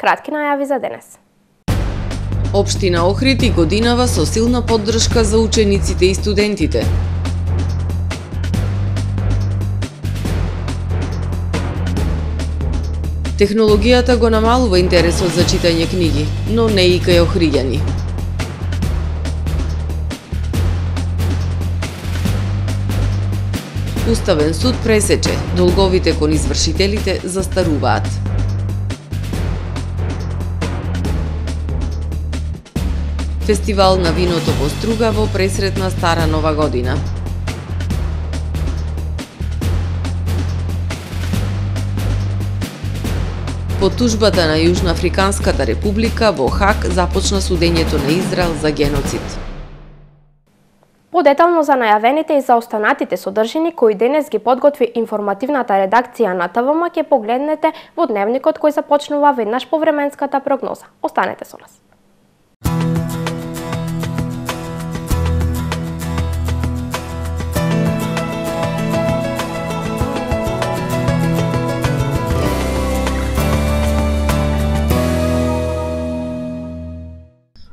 кратки најави за денес. Општина Охрид и годинава со силна поддршка за учениците и студентите. Технологијата го намалува интересот за читање книги, но не и кај охриѓани. Уставен суд пресече, долговите кон извршителите застаруваат. Фестивал на виното во Струга во пресрет на Стара Нова година. По тужбата на Јужноафриканската република во Хаг започна судењето на Израел за геноцид. Подетално за најавените и за останатите содржини кои денес ги подготви информативната редакција на ТВМ ќе погледнете во дневникот кој започнува веднаш по временската прогноза. Останете со нас.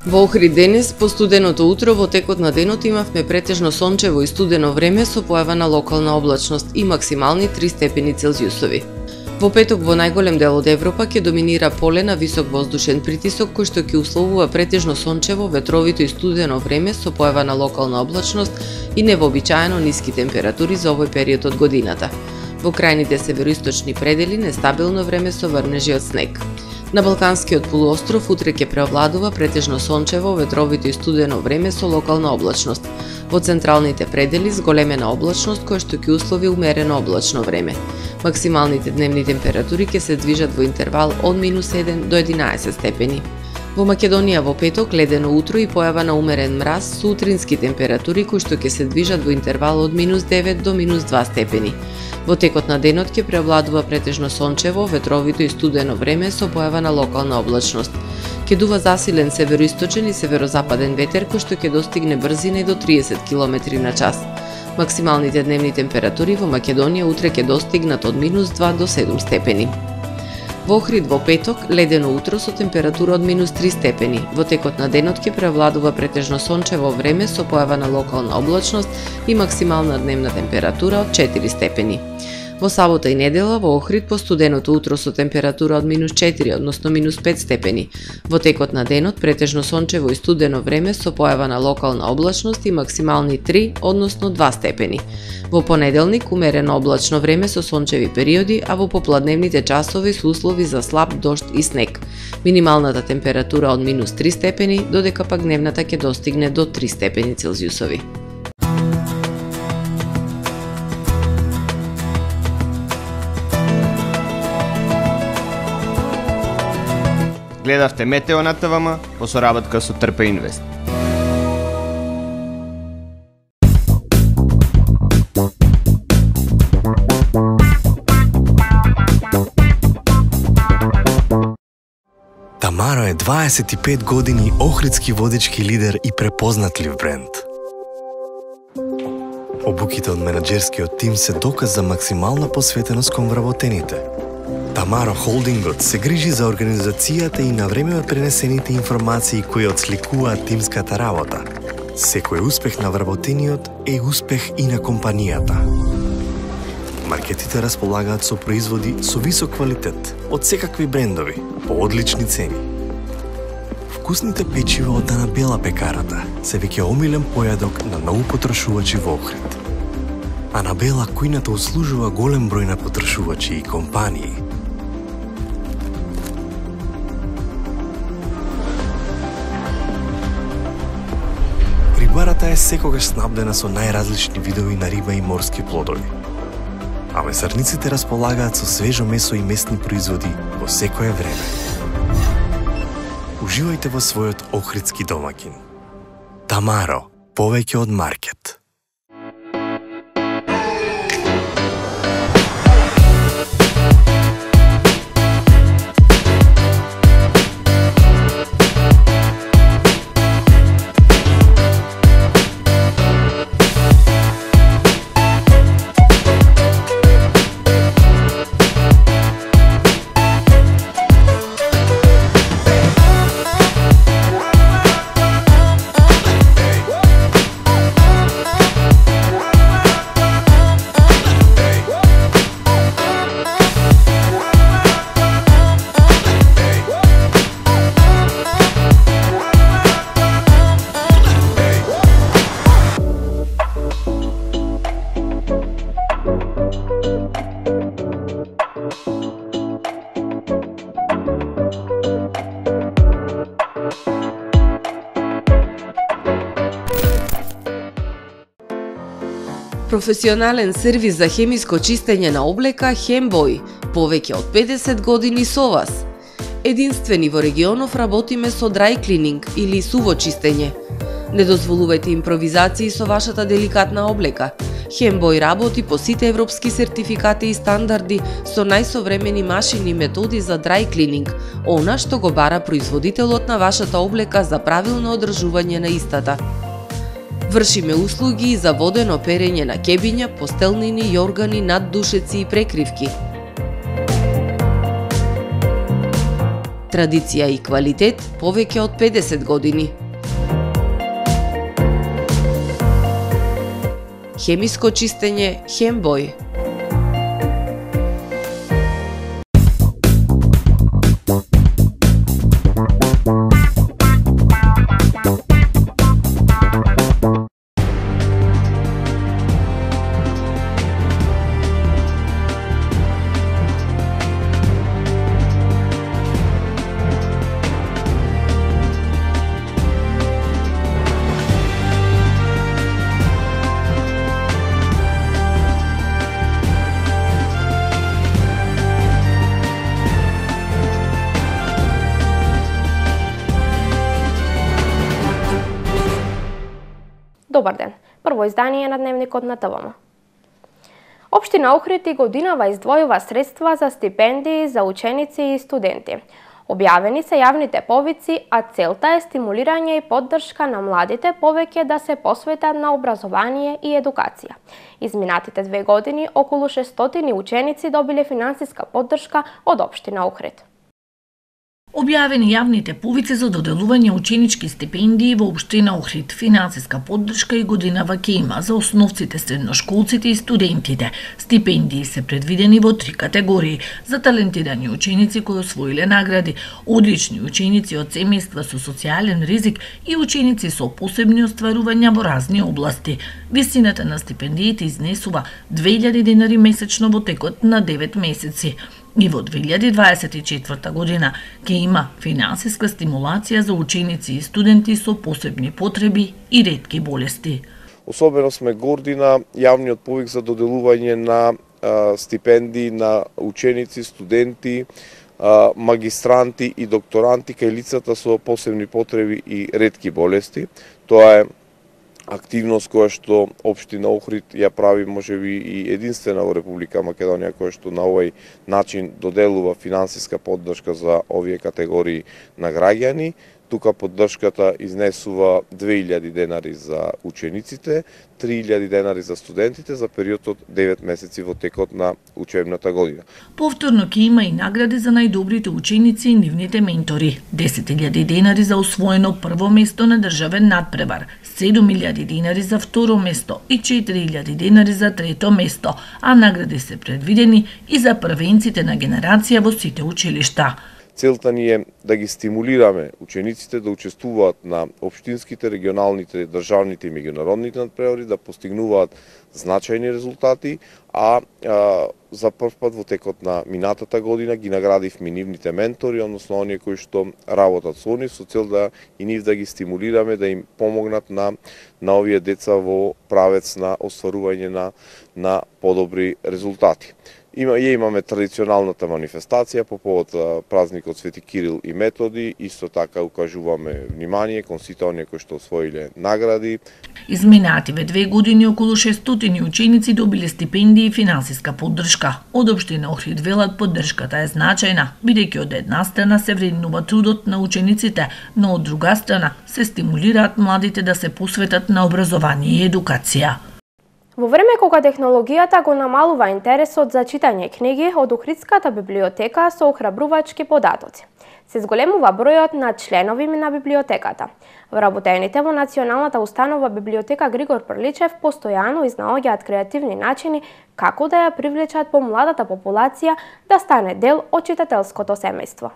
Во Охрид денес, по студеното утро, во текот на денот имавме претежно сончево и студено време со појава на локална облачност и максимални 3 степени Целзиусови. Во петок во најголем дел од Европа ќе доминира поле на висок воздушен притисок кој што ќе условува претежно сончево, ветровито и студено време со појава на локална облачност и невообичаено ниски температури за овој период од годината. Во крајните североисточни предели нестабилно време со врнежи од снег. На Балканскиот полуостров утре ќе преовладува претежно сончево, ветровито и студено време со локална облачност. Во централните предели зголемена облачност која што ќе услови умерено облачно време. Максималните дневни температури ќе се движат во интервал од -7 до 11 степени. Во Македонија во петок ледено утро и појава на умерен мраз со утрински температури кои што ќе се движат во интервал од -9 до -2 степени. Во текот на денот ќе преовладува претежно сончево, ветровито и студено време со појава на локална облачност. Ќе дува засилен североисточен и северозападен ветер кој што ќе достигне брзина до 30 км на час. Максималните дневни температури во Македонија утре ќе достигнат од -2 до 7 степени. Во Охрид во петок ледено утро со температура од -3 степени. Во текот на денот ќе преовладува претежно сончево време со појава на локална облачност и максимална дневна температура од 4 степени. Во сабота и недела во Охрид по студеното утро со температура од -4, односно -5 степени. Во текот на денот претежно сончево и студено време со појава на локална облачност и максимални 3, односно 2 степени. Во понеделник умерено облачно време со сончеви периоди, а во попладневните часови со услови за слаб дожд и снег. Минималната температура од -3 степени, додека пак дневната ќе достигне до 3 степени Целзиусови. Гледавте Метео на ТВМ по соработка со Трпе Инвест. Тамаро е 25 години охридски водички лидер и препознатлив бренд. Обуките од менаџерскиот тим се доказ за максимална посветеност кон вработените. Тамаро Холдингот се грижи за организацијата и на време пренесените информации кои отсликуваат тимската работа. Секој успех на вработениот е успех и на компанијата. Маркетите располагаат со производи со висок квалитет од секакви брендови по одлични цени. Вкусните печива од Анабела пекарата се веќе омилен појадок на многу потрошувачи во Охрид. Анабела кујната услужува голем број на потрошувачи и компании. Рибарата е секогаш снабдена со најразлични видови на риба и морски плодови. А месарниците располагаат со свежо месо и месни производи во секое време. Уживајте во својот охридски домаќин. Тамаро, повеќе од маркет. Професионален сервис за хемиско чистење на облека Хембој, повеќе од 50 години со вас. Единствени во регионов работиме со dry cleaning или суво чистење. Не дозволувајте импровизации со вашата деликатна облека. Хембој работи по сите европски сертификати и стандарди со најсовремени машини и методи за dry cleaning, она што го бара производителот на вашата облека за правилно одржување на истата. Вршиме услуги и за водено перење на кебиња, постелнини, јоргани, наддушеци и прекривки. Традиција и квалитет повеќе од 50 години. Хемиско чистење Хембој. Добар ден. Прво издание на Дневникот на ТВМ. Општина Охрид и годинава издвојува средства за стипендии за ученици и студенти. Објавени се јавните повици, а целта е стимулирање и поддршка на младите повеќе да се посветат на образование и едукација. Изминатите 2 години околу 600 ученици добиле финансиска поддршка од општина Охрид. Објавени јавните повици за доделување ученички стипендии во општина Охрид. Финансиска поддршка и годинава ќе има за основците, средношколците и студентите. Стипендии се предвидени во 3 категории: за талентирани ученици кои освоиле награди, одлични ученици од семејства со социјален ризик и ученици со посебни остварувања во разни области. Висината на стипендиите изнесува 2000 денари месечно во текот на 9 месеци. И во 2024 година ќе има финансиска стимулација за ученици и студенти со посебни потреби и ретки болести. Особено сме горди на јавниот повик за доделување на стипендии на ученици, студенти, магистранти и докторанти кај лицата со посебни потреби и ретки болести. Тоа е активност која што општина Охрид ја прави можеби и единствена во Република Македонија, која што на овој начин доделува финансиска поддршка за овие категории на граѓани. Тука поддршката изнесува 2000 денари за учениците, 3000 денари за студентите за период од 9 месеци во текот на учебната година. Повторно ќе има и награди за најдобрите ученици и нивните ментори. 10.000 денари за освоено прво место на државен надпревар, 7.000 денари за второ место и 4.000 денари за трето место, а награди се предвидени и за првенците на генерација во сите училишта. Целта ни е да ги стимулираме учениците да учествуваат на општинските, регионалните, државните и меѓународните надпревари, да постигнуваат значајни резултати, а за прв пат во текот на минатата година ги наградивме нивните ментори, односно оние кои што работат со нив, со цел да и нив да ги стимулираме, да им помогнат на овие деца во правец на остварување на подобри резултати. Имаме традиционалната манифестација по повод празникот Свети Кирил и Методи, исто така укажуваме внимание кон сите оние кои што освоиле награди. Изминативе 2 години околу 600 ученици добиле стипендии и финансиска поддршка. Од општина Охрид велат поддршката е значајна, бидејќи од една страна се вреднува трудот на учениците, но од друга страна се стимулираат младите да се посветат на образование и едукација. Во време кога технологијата го намалува интересот за читање книги, од Охридската библиотека со охрабрувачки податоци. Се зголемува бројот на членови на библиотеката. Вработените во Националната установа библиотека Григор Прличев постојано изнаоѓаат креативни начини како да ја привлечат помладата популација да стане дел од читателското семејство.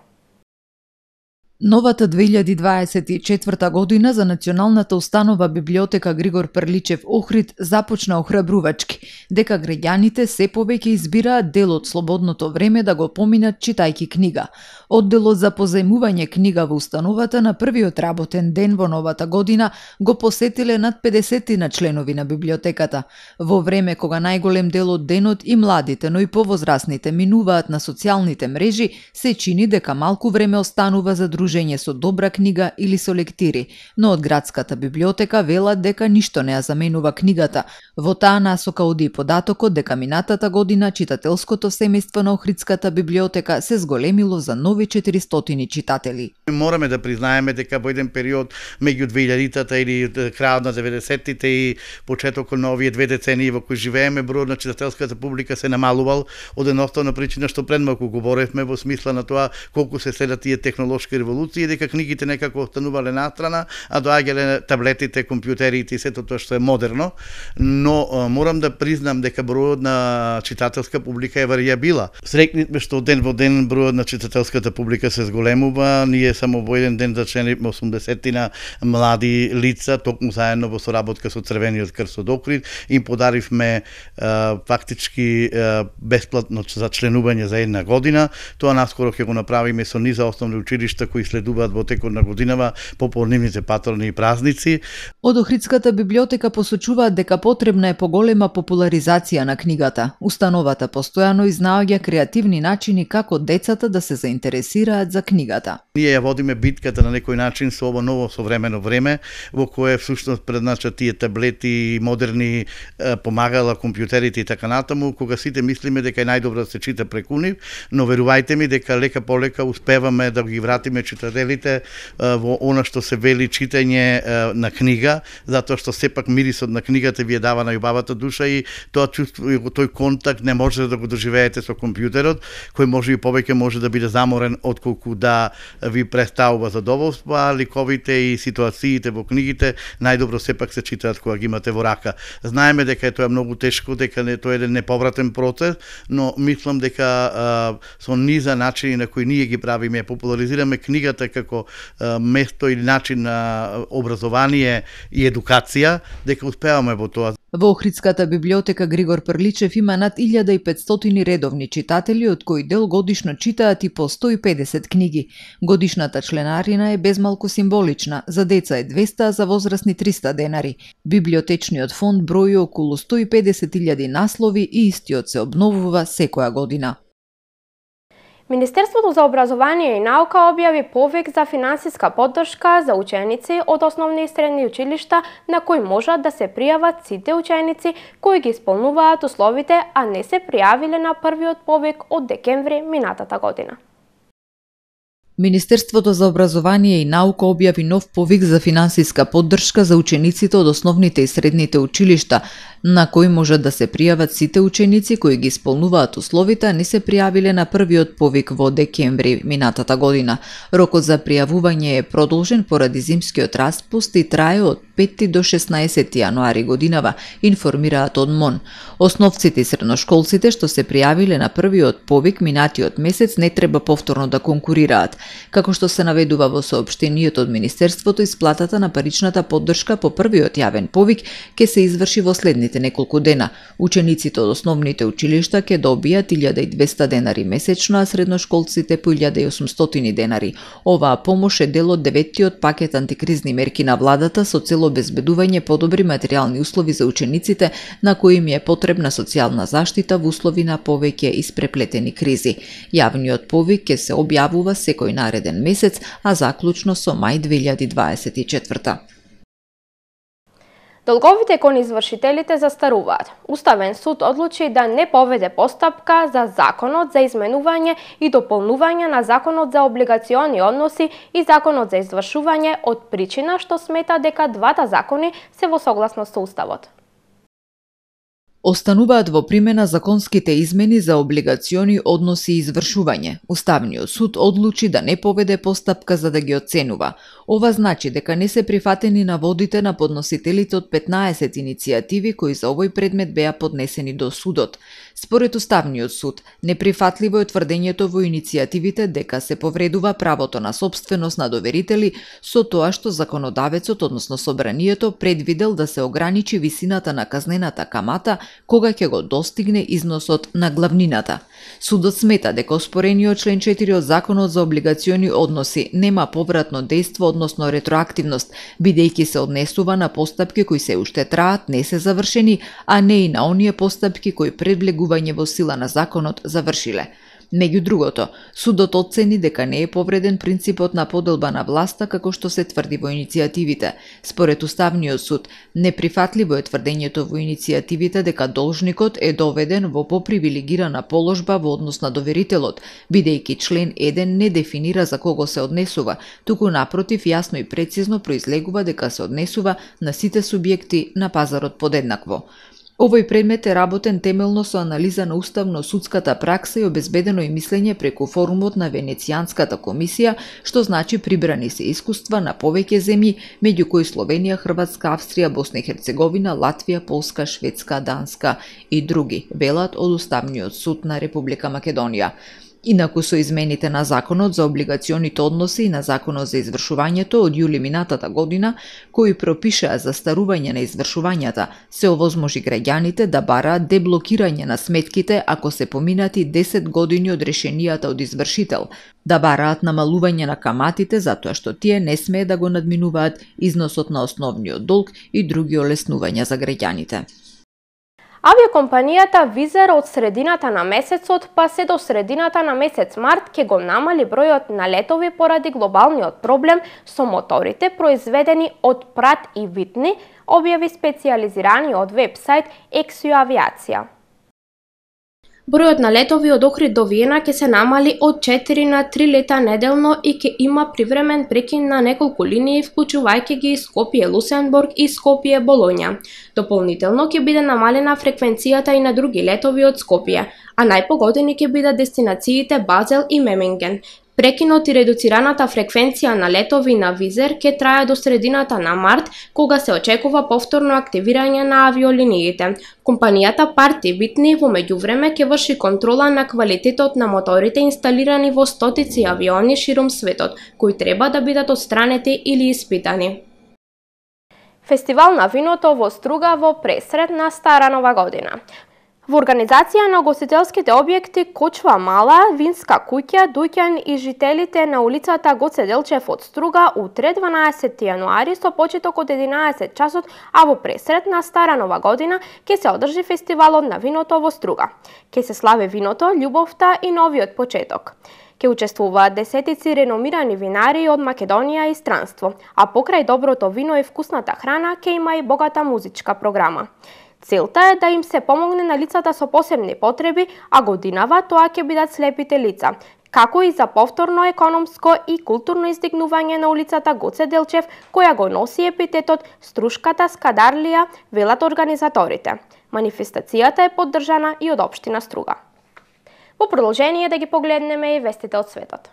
Новата 2024 година за Националната установа библиотека Григор Прличев Охрид започна охрабрувачки, дека граѓаните се повеќе избираат дел од слободното време да го поминат читајќи книга. Одделот за позајмување книга во установата на првиот работен ден во новата година го посетиле над 50 на членови на библиотеката. Во време кога најголем дел од денот и младите, но и повозрасните минуваат на социјалните мрежи, се чини дека малку време останува за дружење со добра книга или со лектири, но од градската библиотека велат дека ништо не ја заменува книгата. Во таа насока оди и податокот дека минатата година читателското семејство на Охридската библиотека се зголемило за нови 400 читатели. Мораме да признаеме дека во еден период меѓу 2000-тата или крајот на 90-тите и почетокот на овие две децении во кои живееме, бројот на читателската публика се намалувал од едноставна причина што предмалку говоревме во смисла на тоа колку се следат тие технолошки револуции, дека книгите некако останувале настрана, а доаѓале таблетите, компјутерите и сето тоа што е модерно, но морам да признам дека бројот на читателска публика е варијабила. Среќнивме што ден во ден бројот на читателската публика се зголемува. Ние само во еден ден зачленивме 80 млади лица, токму заедно во соработка со Црвениот крст од Охрид, им подаривме фактички бесплатно за членување за една година. Тоа наскоро ќе го направиме со низа основни училишта кои следуваат во текот на годинава популнивните патрони и празници. Од Охридската библиотека посочуваат дека потребна е поголема популаризација на книгата. Установата постојано изнаоѓа креативни начини како децата да се заинтересираат за книгата. Ние ја водиме битката на некој начин со ово ново современо време, во кое всушност предначат тие таблети, модерни помагала, компјутерите и така натаму, кога сите мислиме дека е најдобро да се чита преку нив, но верувајте ми дека лека полека успеваме да ги вратиме читателите во она што се вели читање на книга, затоа што сепак мирисот на книгата ви е дава на љубавата душа и тоа чувство, тој контакт не може да го доживеете со компјутерот, кој може и повеќе може да биде заморен отколку да ви представува задоволство, а ликовите и ситуациите во книгите најдобро сепак се читаат кога ги имате во рака. Знаеме дека е тоа многу тешко, дека тоа е еден неповратен процес, но мислам дека со низа начини на кои ние ги правиме, популаризираме книгата како место или начин на образование и едукација, дека успеваме во тоа. Во Охридската библиотека Григор Прличев има над 1500 редовни читатели, од кои дел годишно читаат и по 150 книги. Годишната членарина е безмалку символична, за деца е 200, а за возрастни 300 денари. Библиотечниот фонд брои околу 150.000 наслови и истиот се обновува секоја година. Министерството за образование и наука објави повик за финансиска поддршка за ученици од основни и средни училишта на кои можат да се пријават сите ученици кои ги исполнуваат условите, а не се пријавиле на првиот повик од декември минатата година. Министерството за образование и наука објави нов повик за финансиска поддршка за учениците од основните и средните училишта, на кои можат да се пријават сите ученици кои ги исполнуваат условите, а не се пријавиле на првиот повик во декември минатата година. Рокот за пријавување е продолжен поради зимскиот распуст и трае од 5 до 16 јануари годинава, информираат од МОН. Основците и средношколците што се пријавиле на првиот повик минатиот месец не треба повторно да конкурираат. Како што се наведува во соопштенијето од Министерството, исплатата на паричната поддршка по првиот јавен повик ќе се изврши во следните неколку дена. Учениците од основните училишта ќе добијат 1200 денари месечно, а средношколците по 1800 денари. Оваа помош е дел од 9-тиот пакет антикризни мерки на владата со цел обезбедување подобри материјални услови за учениците на кои им е потребна социјална заштита во услови на повеќе испреплетени кризи. Јавниот повик ќе се објавува секој нареден месец, а заклучно со мај 2024. Долговите кон извршителите застаруваат. Уставен суд одлучи да не поведе постапка за законот за изменување и дополнување на законот за облигациони односи и законот за извршување од причина што смета дека двата закони се во согласност со уставот. Остануваат во примена законските измени за облигациони односи и извршување. Уставниот суд одлучи да не поведе постапка за да ги оценува. Ова значи дека не се прифатени наводите на подносителите од 15 иницијативи кои за овој предмет беа поднесени до судот. Според Уставниот суд, неприфатливо е тврдењето во иницијативите дека се повредува правото на сопственост на доверители со тоа што законодавецот, односно собранието, предвидел да се ограничи висината на казнената камата кога ќе го достигне износот на главнината. Судот смета дека оспорениот член 4 од Законот за облигациони односи нема повратно дејство, односно ретроактивност, бидејќи се однесува на постапки кои се уште траат, не се завршени, а не и на оние постапки кои пред влегување во сила на законот завршиле. Меѓу другото, судот оцени дека не е повреден принципот на поделба на власта како што се тврди во иницијативите. Според Уставниот суд, неприфатливо е тврдењето во иницијативите дека должникот е доведен во попривилегирана положба во однос на доверителот, бидејќи член 1 не дефинира за кого се однесува, туку напротив јасно и прецизно произлегува дека се однесува на сите субјекти на пазарот подеднакво. Овој предмет е работен темелно со анализа на уставно-судската пракса и обезбедено и мислење преку форумот на Венецијанската комисија, што значи прибрани се искуства на повеќе земји, меѓу кои Словенија, Хрватска, Австрија, Босна и Херцеговина, Латвија, Полска, Шведска, Данска и други, велат од Уставниот суд на Република Македонија. Инаку со измените на Законот за облигационите односи и на Законот за извршувањето од јули минатата година, кои пропишаа застарување на извршувањата, се овозможи граѓаните да бараат деблокирање на сметките ако се поминати 10 години од решенијата од извршител, да бараат намалување на каматите затоа што тие не смее да го надминуваат износот на основниот долг и други олеснувања за граѓаните. Авиокомпанијата Визер од средината на месецот па се до средината на месец март ќе го намали бројот на летови поради глобалниот проблем со моторите произведени од прат и витни, објави специјализираниот вебсајт Ексио Авиација. Бројот на летови од Охрид до Виена ќе се намали од 4 на 3 лета неделно и ќе има привремен прекин на неколку линии, вклучувајќи ги Скопје-Лусенбург и Скопје-Болоња. Дополнително ќе биде намалена фреквенцијата и на други летови од Скопје, а најпогодени ќе бидат дестинациите Базел и Меминген. Прекинот и редуцираната фреквенција на летови на Визер ќе трае до средината на март, кога се очекува повторно активирање на авиолиниите. Компанијата Парти Витни во меѓувреме ќе врши контрола на квалитетот на моторите инсталирани во стотици авиони широм светот, кои треба да бидат отстранети или испитани. Фестивал на виното во Струга во пресред на Стара Нова година. Во организација на гостителските објекти Кочва Мала, Винска куќа, дуќан и жителите на улицата Гоце Делчев од Струга утре 12 јануари со почеток од 11 часот, а во пресред на Стара Нова година ќе се одржи фестивалот на виното во Струга. Ќе се слави виното, љубовта и новиот почеток. Ќе учествуваат десетици реномирани винари од Македонија и странство, а покрај доброто вино и вкусната храна ќе има и богата музичка програма. Целта е да им се помогне на лицата со посебни потреби, а годинава тоа ќе бидат слепите лица, како и за повторно економско и културно издигнување на улицата Гоце Делчев, која го носи епитетот Струшката Скадарлија, велат организаторите. Манифестацијата е поддржана и од општина Струга. Во продолжение да ги погледнеме и вестите од светот.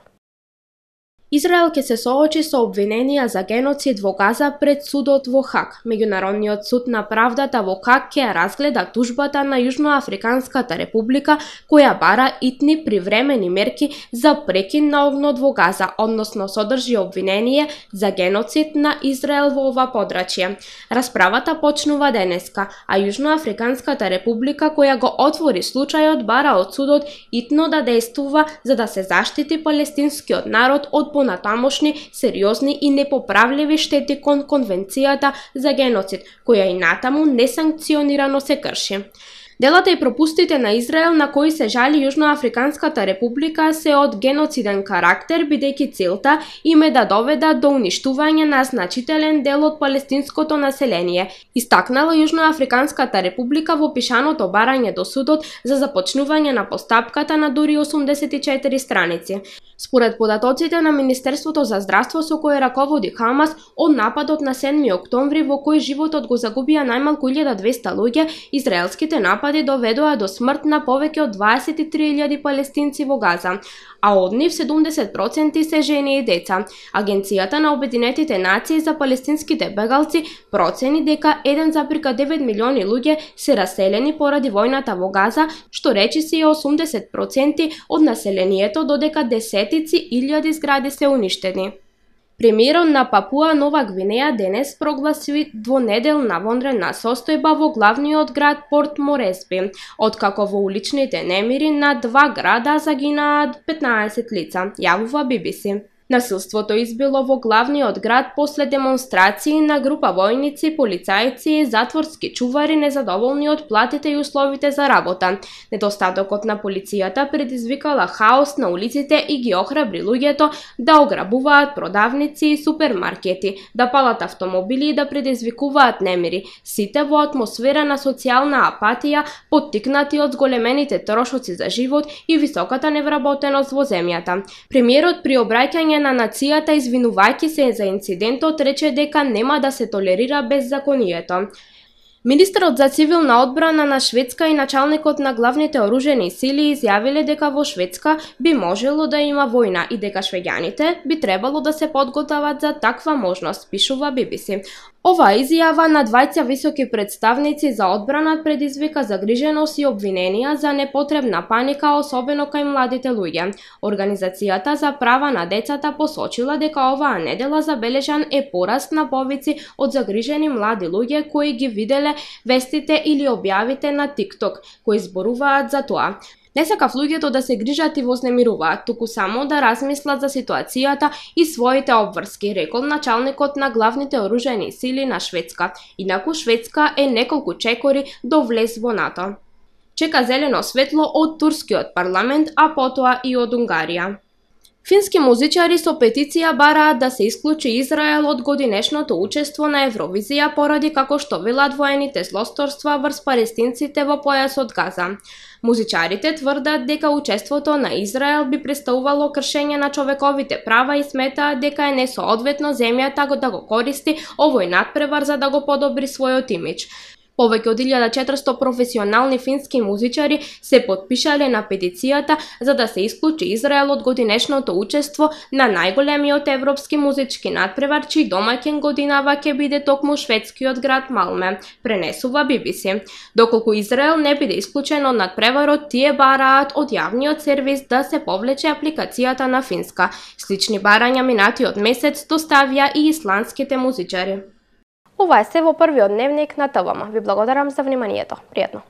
Израел ќе се соочи со обвиненија за геноцид во Газа пред судот во Хаг. Меѓународниот суд на правдата во Хаг ќе разгледа тужбата на Јужноафриканската република која бара итни привремени мерки за прекин на огнот во Газа, односно содржи обвинение за геноцид на Израел во ова подрачје. Расправата почнува денеска, а Јужноафриканската република која го отвори случајот бара од судот итно да действува за да се заштити палестинскиот народ од понатамошни, сериозни и непоправливи штети кон Конвенцијата за геноцид, која и натаму несанкционирано се крши. Делата и пропустите на Израел на кои се жали Јужноафриканската република се од геноциден карактер, бидејќи целта им е да доведат до уништување на значителен дел од палестинското население, истакнала Јужноафриканската република во пишаното барање до судот за започнување на постапката на дури 84 страници. Според податоците на Министерството за здравство со кој раководи Хамас, од нападот на 7 октомври во кој животот го загубија најмалку 1200 луѓе, израелските напади доведоа до смрт на повеќе од 23.000 палестинци во Газа, а од нив 70% се жени и деца. Агенцијата на Обединетите нации за палестинските бегалци процени дека 1,9 милиони луѓе се раселени поради војната во Газа, што речиси 80% од населението, додека десетици илјади згради се уништени. Премиерот на Папуа Нова Гвинеја денес прогласи двонеделна вонредна состојба во главниот град Порт Моресби, откако во уличните немири на 2 града загинаат 15 лица, јавува BBC. Насилството избило во главниот град после демонстрации на група војници, полицајци и затворски чувари незадоволни од платите и условите за работа. Недостатокот на полицијата предизвикала хаос на улиците и ги охрабри луѓето да ограбуваат продавници и супермаркети, да палат автомобили и да предизвикуваат немири, сите во атмосфера на социјална апатија, поттикнати од зголемените трошоци за живот и високата невработеност во земјата. Премиерот при обраќање на нацијата извинувајќи се за инцидентот рече дека нема да се толерира беззаконието. Министерот за цивилна одбрана на Шведска и началникот на главните оружени сили изјавиле дека во Шведска би можело да има војна и дека швеѓаните би требало да се подготват за таква можност, пишува BBC. Оваа изјава на двајца високи представници за одбрана предизвика загриженост и обвиненија за непотребна паника, особено кај младите луѓе. Организацијата за права на децата посочила дека оваа недела забележан е пораст на повици од загрижени млади луѓе кои ги виделе вестите или објавите на TikTok, кои зборуваат за тоа. Не сакав луѓето да се грижат и вознемируваат, туку само да размислат за ситуацијата и своите обврски, рекол началникот на главните оружени сили на Шведска. Инаку Шведска е неколку чекори до влез во НАТО. Чека зелено светло од турскиот парламент, а потоа и од Унгарија. Фински музичари со петиција бараат да се исклучи Израел од годинешното учество на Евровизија поради, како што велат, воените злосторства врз палестинците во појасот Газа. Музичарите тврдат дека учеството на Израел би представувало кршење на човековите права и сметаат дека е несоодветно земјата да го користи овој надпревар за да го подобри својот имидж. Повеќе од 1400 професионални фински музичари се потпишале на петицијата за да се исклучи Израел од годинешното учество на најголемиот европски музички надпревар, чиј домаќин годинава ќе биде токму шведскиот град Малме, пренесува BBC. Доколку Израел не биде исклучен од надпреварот, тие бараат од јавниот сервис да се повлече апликацијата на финска. Слични барања минатиот месец доставија и исландските музичари. Ова е се во првиот дневник на ТВМ. Ви благодарам за вниманието. Пријатно.